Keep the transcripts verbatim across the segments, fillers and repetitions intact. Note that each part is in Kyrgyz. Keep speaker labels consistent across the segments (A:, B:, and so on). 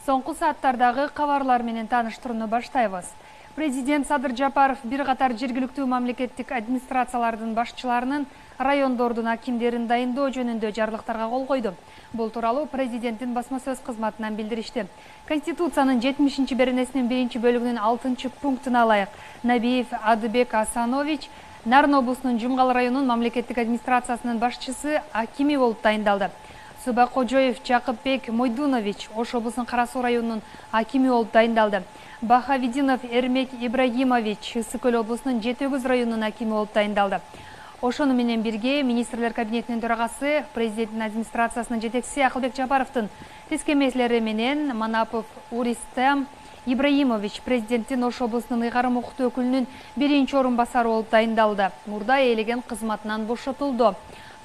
A: Соңку сааттардагы кабарлар менен тааныштырууну баштайбыз. Президент Садыр Жапаров бир катар жергиликтүү мамлекеттик администрациялардын башчыларынын райондордун акимдерин дайындоо жөнүндө жарлыктарга кол койду. Бул тууралуу президенттин басма сөз кызматынан билдиришти. Конституциянын жетимишинчи беренесинин биринчи бөлүгүнүн алтынчы пунктуна ылайык Набиев Адыбек Асанович Нарын облусунун Жумгал районунун мамлекеттик администрациясынын башчысы акими болуп дайындалды. Субакожоев Жакыпбек Мойдунович Ош облусунун Кара Суу районунун акими болуп дайындалды. Бахавидинов Эрмек Ибрагимович Ысык Көл облусунун Жети Өгүз районунун акими болуп дайындалды. Ошону менен бирге министрлер кабинетинин төрагасы, президенттин администрациясынын жетекчиси Акылбек Жапаровдун тескемеслери менен Манапов Уристем Ибраимович президенттин Ош облусунун ыйгарым укуктуу өкүлүнүн биринчи орун басары болуп дайындалды. Мурда ээлеген кызматынан бошотулду.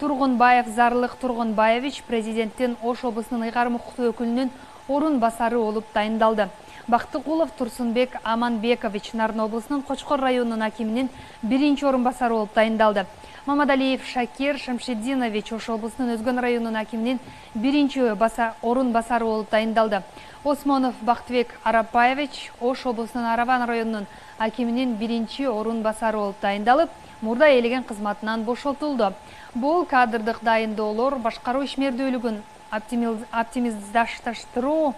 A: Тургунбаев Зарлык Тургунбаевич президенттин Ош облусунун ыйгарым укуктуу өкүлүнүн орун басары болуп дайындалды. Бактыкулов Турсунбек Аманбекович Нарын облусунун Кочкор районунун акиминин биринчи орун басары болуп дайындалды. Мамадалиев Шакир Шамшидинович Ош облусунун Өзгөн районунун акиминин биринчи баса орун басары болуп дайындалды. Осмонов Бактыбек Арапаевич Ош облусунун Араван районунун акиминин биринчи орун басары болуп дайындалып, мурда ээлеген кызматынан бошотулду. Бул кадрдык дайындоолор башкаруу ишмердүүлүгүн оптимиздаштыруу,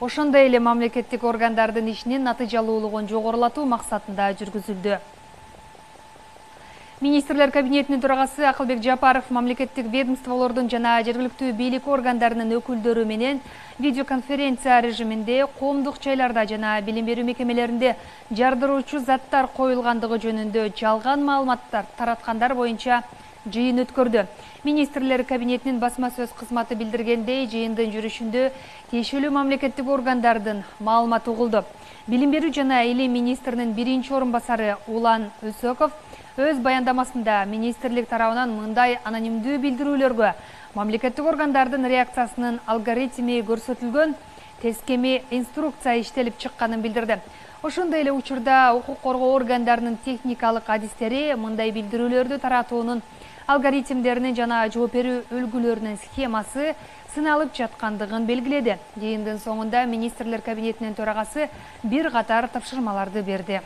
A: ошондой эле мамлекеттик органдардын ишинин натыйжалуулугун жогорулатуу максатында жүргүзүлдү. Министрлер кабинетинин төрагасы Акылбек Жапаров мамлекеттик ведомстволордун жана жергиликтүү бийлик органдарынын өкүлдөрү менен видеоконференция режиминде коомдук жайларда жана билим берүү мекемелеринде жардыруучу заттар коюлгандыгы жөнүндө жалган маалыматтар тараткандар боюнча жыйын өткөрдү. Министрлер кабинетинин басма сөз кызматы билдиргендей, жыйындын жүрүшүндө тиешелүү мамлекеттик органдардын маалыматы угулду. Билим берүү жана илим министринин биринчи орун басары Улан Өсөков өз баяндамасында министрлик тарабынан мындай анонимдүү билдирүүлөргө мамлекеттик органдардын реакциясынын алгоритми көрсөтүлгөн тескеми инструкция иштелип чыкканын билдирди. Ошондой эле учурда укук коргоо органдарынын техникалык адистери мындай билдирүүлөрдү таратуунун алгоритмдеринин жана жооп берүү үлгүлөрүнүн схемасы сыналып жаткандыгын белгиледи. Жыйындын соңунда министрлер кабинетинин төрагасы бир катар тапшырмаларды берди.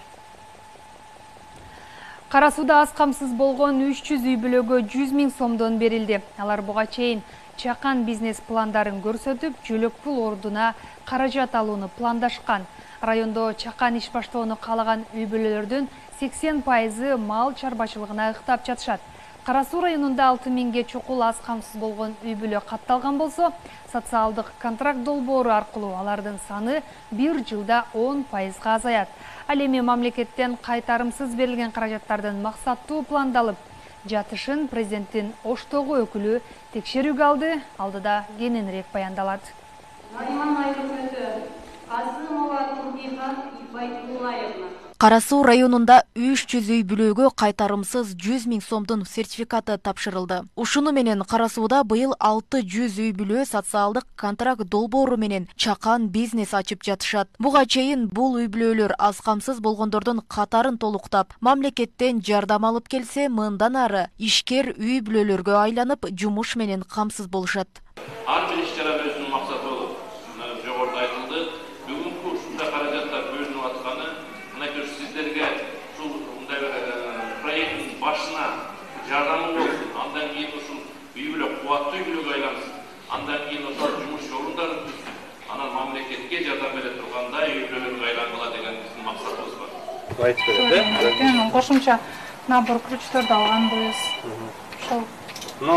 A: Кара сууда аз камсыз болгон үч жүз үй бүлөгө жүз миң сомдон берилди. Алар буга чейин чакан бизнес пландарын көрсөтүп, жөлөк пул ордуна каражат алууну пландашкан. Райондо чакан иш баштоону каалаган үй бүлөлөрдүн сексен пайызы мал чарбачылыгына ыктап жатышат. Кара Суу районунда алты миңге чукул аз камсыз болгон үй бүлө катталган болсо, социалдык контракт долбоору аркылуу алардын саны бир жылда он пайызга азаят. Ал эми мамлекеттен кайтарымсыз берилген каражаттардын максаттуу пландалып жатышын президенттин Оштогу өкүлү текшерүүгө алды. Алдыда кененирээк баяндалат.
B: Кара Суу районунда үч жүз үй бүлөгө кайтарымсыз жүз миң сомдун сертификаты тапшырылды. Ушуну менен Кара Сууда быйыл алты жүз үй бүлө социалдык контракт долбоору менен чакан бизнес ачып жатышат. Буга чейин бул үй бүлөлөр аз камсыз болгондордун катарын толуктап, мамлекеттен жардам алып келсе, мындан ары ишкер үй бүлөлөргө айланып, жумуш менен камсыз болушат.
C: Ар бир иш-чара өзүнүн максаты болот. Жогоруда айтылды. Бүгүнкү ушундай каражаттар бөлүнүп атканы сиздерге ушул мындай проекттин башына жардамы болсун. Андан кийин ушул үй бүлө кубаттуу үй бүлөгө айлансын. Андан кийин ошол жумуш орундарын түзсүн. Анан мамлекетке жардам бере тургандай үй бүлөлөргө айлангыла деген биздин максатыбыз бар.
D: Айтып берет.
E: Кошумча набор ключтөрдү алганбыз. Ошол.
D: Но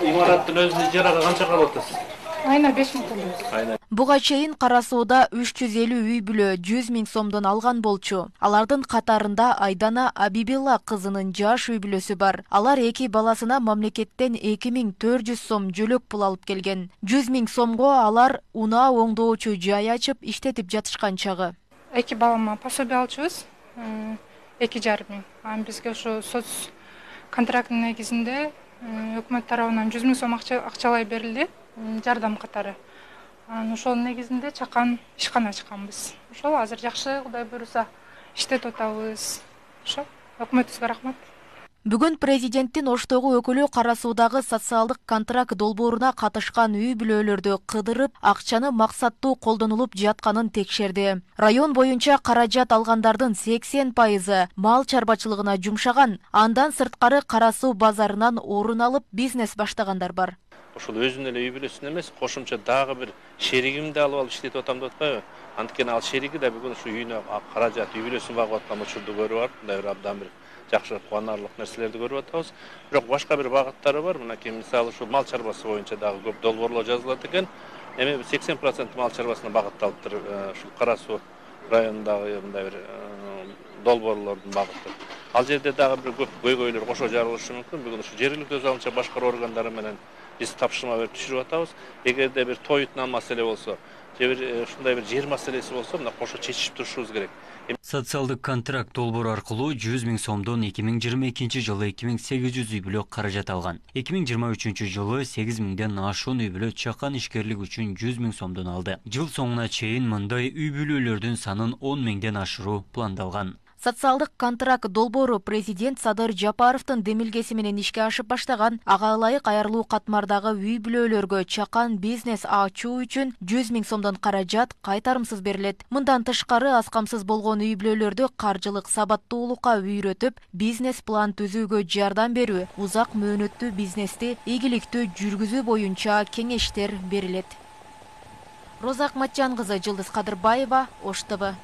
D: имараттын өзүнүн ижарага канча кабыл атасыз?
E: Айына беш миң төлөйбүз.
B: Буга чейин Кара Сууда үч жүз элүү үй бүлө жүз миң сомдон алган болчу. Алардын катарында Айдана Абибилла кызынын жаш үй бүлөсү бар. Алар эки баласына мамлекеттен эки миң төрт жүз сом жөлөк пул алып келген. жүз миң сомго алар унаа оңдоочу жай ачып иштетип жатышкан чагы.
E: Эки балама пособие алчубуз. эки жарым миң. Анан бизге ошо соц контракттын негизинде өкмөт тарабынан жүз миң сом акчалай берилди. Жардам катары. Ошол негизинде чакан ишкана ачканбыз. Ошол азыр жакшы, Кудай буйруса иштетип атабыз. Ошо өкмөтүбүзгө рахмат.
B: Бүгүн президенттин Оштогу өкүлү Кара Суудагы социалдык контракт долбооруна катышкан үй бүлөлөрдү кыдырып, акчаны максаттуу колдонулуп жатканын текшерди. Район боюнча каражат алгандардын сексен пайызы мал чарбачылыгына жумшаган, андан сырткары Кара Суу базарынан орун алып бизнес баштагандар бар.
C: Ошол өзүнүн эле үй бүлөсүн эмес, кошумча дагы бир шеригимди алып алып иштетип атам деп атпайбы? Анткени ал шериги да бүгүн ушу үйүнө каражат, үй бүлөсүн багып аткан учурду көрүп алып, мындай бир абдан бир жакшы кубанарлык нерселерди көрүп атабыз. Бирок башка бир багыттары бар. Мынакей мисалы ушу мал чарбасы боюнча дагы көп долбоорлор жазылат экен. Эми сексен процент мал чарбасына багытталыптыр ушул Кара Суу районундагы мындай бир долбоорлордун багыты. Ал жерде дагы бир көп көйгөйлөр кошо жарылышы мүмкүн. Бүгүн ушу жергиликтүү өз алынча башкаруу органдары менен биз тапшырма берип түшүрүп атабыз. Эгерде бир тоютунан маселе болсо, же бир ушундай бир жер маселеси болсо, мына кошо чечишип турушубуз керек.
F: Социалдык контракт долбоору аркылуу жүз миң сомдон эки миң жыйырма экинчи жылы эки миң сегиз жүз үй бүлө каражат алган. эки миң жыйырма үчүнчү жылы сегиз миңден ашуун үй бүлө чакан ишкерлик үчүн жүз миң сомдон алды. Жыл соңуна чейин мындай үй бүлөлөрдүн санын он миңден ашыруу пландалган.
B: Социалдык контракт долбоору президент Садыр Жапаровдун демилгеси менен ишке ашып баштаган. Ага ылайык айрылуу катмардагы үй бүлөлөргө чакан бизнес ачуу үчүн жүз миң сомдон каражат кайтарымсыз берилет. Мындан тышкары аз камсыз болгон үй бүлөлөрдү каржылык сабаттуулукка үйрөтүп, бизнес план түзүүгө жардам берүү, узак мөөнөттүү бизнести ийгиликтүү жүргүзүү боюнча кеңештер берилет. Роза Акматжан кызы, Жылдыз Кадырбаева, Ош Т В.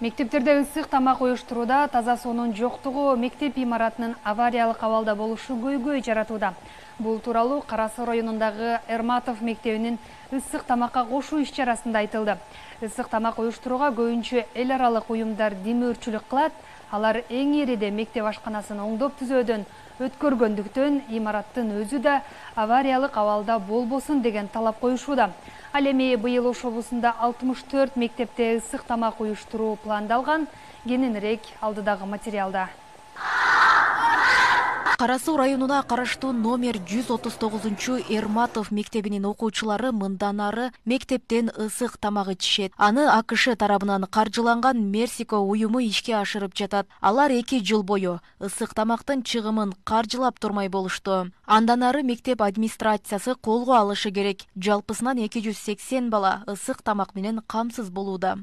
A: Мектептерде ысык тамак уюштурууда таза суунун жоктугу мектеп имаратынын авариялык абалда болушу көйгөй жаратууда. Бул тууралуу Кара Суу районундагы Эрматов мектебинин ысык тамакка кошуу иш-чарасында айтылды. Ысык тамак уюштурууга көбүнчө эл аралык уюмдар демөөрчүлүк кылат. Алар эң ириде мектеп ашканасын оңдоп түзөөдөн өткөргөндүктөн имараттын өзү да авариялык абалда болбосун деген талап коюшууда. Ал эми быйыл Ош облусунда алтымыш төрт мектепте ысык тамак уюштуруу пландалган. Кененирээк алдыдагы материалда.
B: Кара Суу районуна караштуу номер жүз отуз тогузунчу Эрматов мектебинин окуучулары мындан ары мектептен ысык тамак ичишет. Аны А К Ш тарабынан каржыланган Мерсико уюму ишке ашырып жатат. Алар эки жыл бою ысык тамактын чыгымын каржылап турмай болушту. Андан ары мектеп администрациясы колго алышы керек. Жалпысынан эки жүз сексен бала ысык тамак менен камсыз болууда.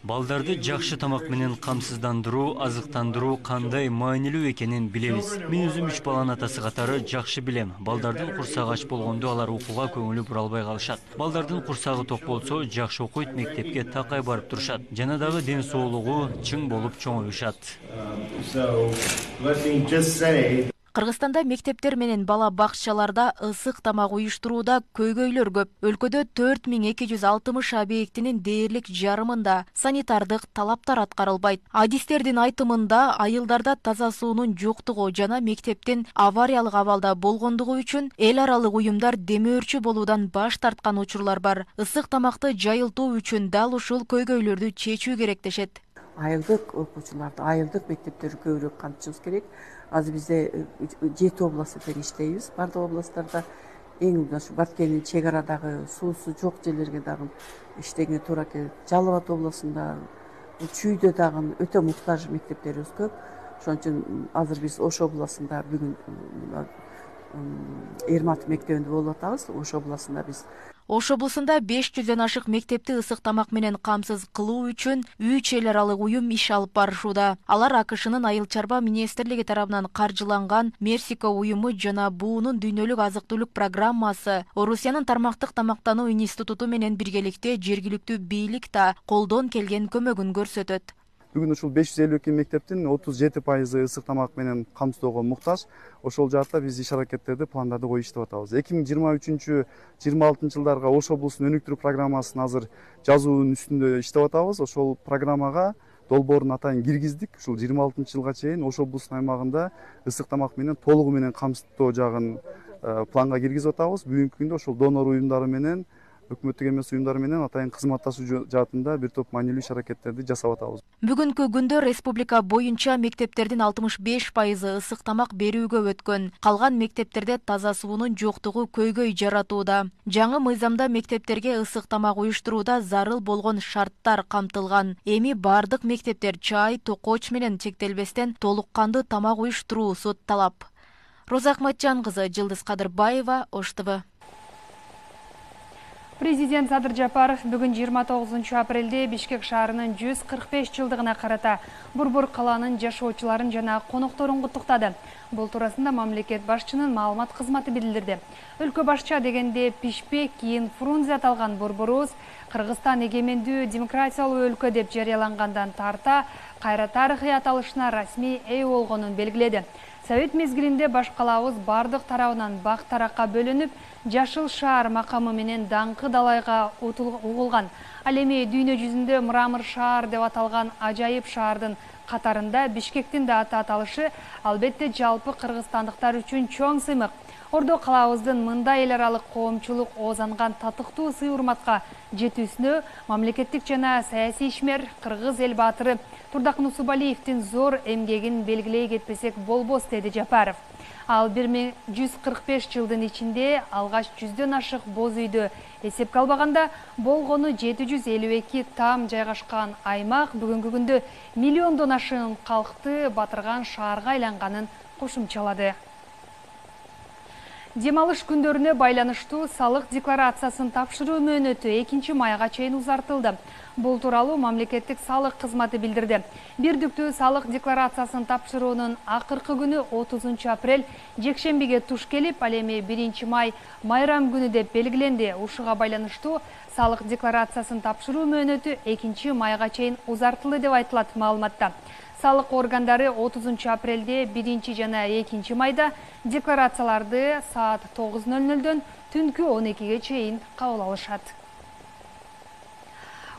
F: Балдарды жакшы тамак менен камсыздандыруу, азыктандыруу кандай маанилүү экенин билебиз. Мен өзүм үч баланын атасы катары жакшы билем. Балдардын курсагы ач болгондо алар окууга көңүлү бура албай калышат. Балдардын курсагы ток болсо, жакшы окуйт, мектепке такай барып турушат. Жана дагы ден соолугу чың болуп чоңоюшат.
B: Кыргызстанда мектептер менен бала бакчаларда ысык тамак уюштурууда көйгөйлөр көп. Өлкөдө төрт миң эки жүз алтымыш объектинин дээрлик жарымында санитардык талаптар аткарылбайт. Адистердин айтымында айылдарда таза суунун жоктугу жана мектептин авариялык абалда болгондугу үчүн эл аралык уюмдар демөөрчү болуудан баш тарткан учурлар бар. Ысык тамакты жайылтуу үчүн дал ушул көйгөйлөрдү чечүү керек дешет.
G: Айылдык окуучуларды, айылдык мектептерди көбүрөөк камтышыбыз керек. Азыр бизде жети областта иштейбиз. Бардык областтарда эң ушу Баткендин чек арадагы суусу жок жерлерге дагы иштегенге туура келет. Жалал Абад областында, Чүйдө дагы өтө муктаж мектептерибиз көп. Ошон үчүн азыр биз Ош областында бүгүн Эрматов мектебинде болуп атабыз. Ош областында биз
B: Ош облусунда беш жүздөн ашык мектепти ысык тамак менен камсыз кылуу үчүн үч эл аралык уюм иш алып барышууда. Алар А К Шнын айыл чарба министрлиги тарабынан каржыланган Мерсико уюму жана буунун дүйнөлүк азык-түлүк программасы, Орусиянын тармактык тамактануу институту менен биргеликте жергиликтүү бийлик да колдон келген көмөгүн көрсөтөт.
H: Бүгүн ушул беш жүз элүү эки мектептин отуз жети пайызы ысык тамак менен камсыздоого муктаж. Ошол жаатта биз иш аракеттерди, пландарды коюп иштеп атабыз. эки миң жыйырма үчүнчү жыйырма алтынчы жылдарга Ош облусунун өнүктүрүү программасын азыр жазуунун үстүндө иштеп атабыз. Ошол программага долбоорун атайын киргиздик. Ушул жыйырма алтынчы жылга чейин Ош облусунун аймагында ысык тамак менен толугу менен камсыздоо жагын планга киргизип атабыз. Бүгүнкү күндө ошол донор уюмдары менен өкмөттүк эмес уюмдар менен атайын кызматташуу жаатында бир топ маанилүү иш аракеттерди жасап атабыз.
B: Бүгүнкү күндө республика боюнча мектептердин алтымыш беш пайызы ысык тамак берүүгө өткөн. Калган мектептерде таза суунун жоктугу көйгөй жаратууда. Жаңы мыйзамда мектептерге ысык тамак уюштурууда зарыл болгон шарттар камтылган. Эми бардык мектептер чай, токоч менен чектелбестен толук кандуу тамак уюштуруусу талап. Роза Акматжан кызы, Жылдыз Кадырбаева, Ош Т В.
A: Президент Садыр Жапаров бүгүн жыйырма тогузунчу апрелде Бишкек шаарынын жүз кырк беш жылдыгына карата Борбор калаанын жашоочуларын жана конокторун куттуктады. Бул туурасында мамлекет башчынын маалымат кызматы билдирди. Өлкө башча дегенде пишпек, кийин Фрунзе аталган борборубуз Кыргызстан эгемендүү демократиялуу өлкө деп жарыялангандан тарта кайра тарыхый аталышына расмий ээ болгонун белгиледи. Совет мезгилинде баш калаабыз бардык тарабынан бак таракка бөлүнүп, жашыл шаар макамы менен даңкы далайга угулган. Ал эми дүйнө жүзүндө мрамор шаар деп аталган ажайып шаардын катарында Бишкектин да аты аталышы албетте жалпы кыргызстандыктар үчүн чоң сыймык. Ордо калаабыздын мындай эл аралык коомчулук оозанган татыктуу сый-урматка жетүүсүнө мамлекеттик жана саясий ишмер кыргыз эл баатыры Турдакын Усубалиевдин зор эмгегин белгилей кетпесек болбос, деди Жапаров. Ал бир миң жүз кырк беш жылдын ичинде алгач жүздөн ашык боз үйдө эсепке албаганда болгону жети жүз элүү эки там жайгашкан аймак бүгүнкү күндө миллиондон ашык калкты батырган шаарга айланганын кошумчалады. Дем алыш күндөрүнө байланыштуу салык декларациясын тапшыруу мөөнөтү экинчи майга чейин узартылды. Бул тууралуу мамлекеттик салык кызматы билдирди. Бирдиктүү салык декларациясын тапшыруунун акыркы күнү отузунчу апрель жекшембиге туш келип, ал эми биринчи май майрам күнү деп белгиленди. Ушуга байланыштуу салык декларациясын тапшыруу мөөнөтү экинчи майга чейин узартылды деп айтылат маалыматта. Салык органдары отузунчу апрелде биринчи жана экинчи майда декларацияларды саат тогуз ноль нолдон түнкү он экиге чейин кабыл алышат.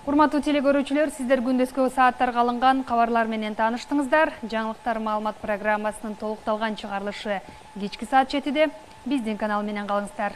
A: Урматтуу телекөрүүчүлөр, сиздер күндөскү сааттарга алынган кабарлар менен тааныштыңыздар. Жаңылыктар маалымат программасынын толукталган чыгарылышы кечки саат жетиде биздин канал менен калыңыздар.